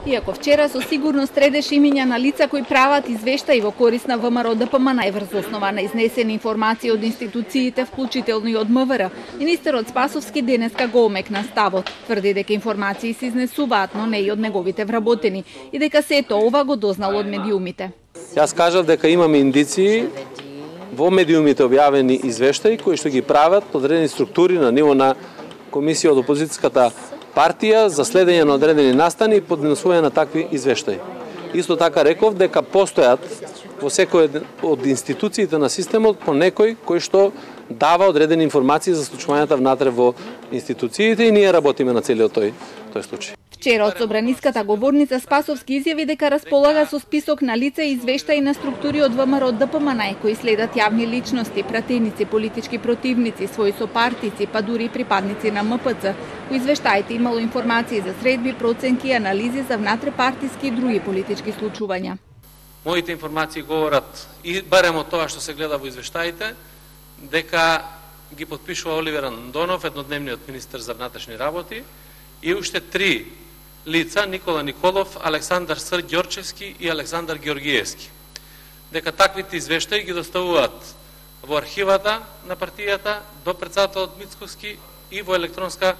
Иако вчера со сигурност редеше имиња на лица кои прават извештаи во корист на ВМРО ДПМН врз основа на изнесени информации од институциите, вклучително и од МВР, министерот Спасовски денеска го омекна ставот. Тврди дека информации се изнесуваат, но не и од неговите вработени, и дека сето ова го дознал од медиумите. Јас кажав дека имаме индиции во медиумите објавени извештаи кои што ги прават одредени структури на ниво на комисија од опозицијската партија за следење на одредени настани и поднесување на такви извештаи. Исто така реков дека постојат во секој од институциите на системот по некој кој што дава одредени информации за случувањата внатре во институциите и ние работиме на целиот тој случај. Вчера од собраниската говорница Спасовски изјави дека располага со список на лица и извештаи на структури од ВМРО ДПМН кои следат јавни личности, пратеници, политички противници, своји сопартици, па дури и припадници на МПЦ. Во извештаите имало информации за средби, проценки и анализи за внатрепартиски и други политички случувања. Моите информации говорат и барем од тоа што се гледа во извештаите дека ги потпишува Оливер Андонов, еднодневниот министер за внатрешни работи, и уште 3 лица, Никола Николов, Александар Ср Ѓорчевски и Александар Георгиевски. Дека таквите извештаи ги доставуваат во архивата на партијата до претседателот Мицковски и во електронска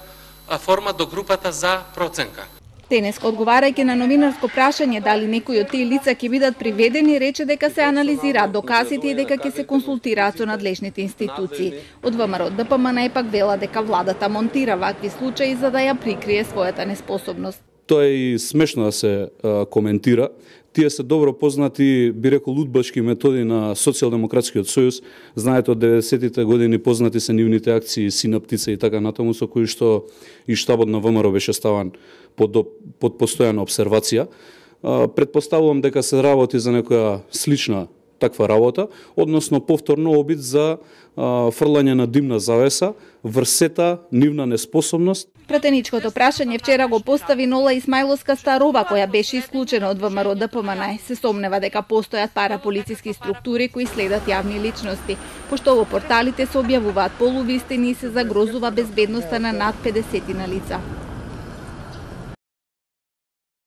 форма до групата за проценка. Денеска, одговарајќи на новинарско прашање дали некои од тие лица ќе бидат приведени, рече дека се анализираат доказите и дека ќе се консултираат со надлежните институции. Од ВМРО ДПМН пак вела дека владата монтира вакви случаи за да ја прикрие својата неспособност. Тоа е и смешно да се коментира. Тие се добро познати, би рекол, удбачки методи на Социјалдемократскиот сојуз. Знаете, од 90-тите години познати се нивните акции Синаптица и така натаму, со кои што и штабот на ВМРО беше ставан под постојана обсервација. Предпоставувам дека се работи за некоја слична таква работа, односно повторно обид за фрлање на димна завеса врз сета нивна неспособност. Пратеничкото прашање вчера го постави Нола Исмаиловска Старова, која беше исклучена од ВМРО ДПМН. Се сомнева дека постојат параполициски структури кои следат јавни личности, пошто во порталите се објавуваат полувистини и се загрозува безбедноста на над 50 лица.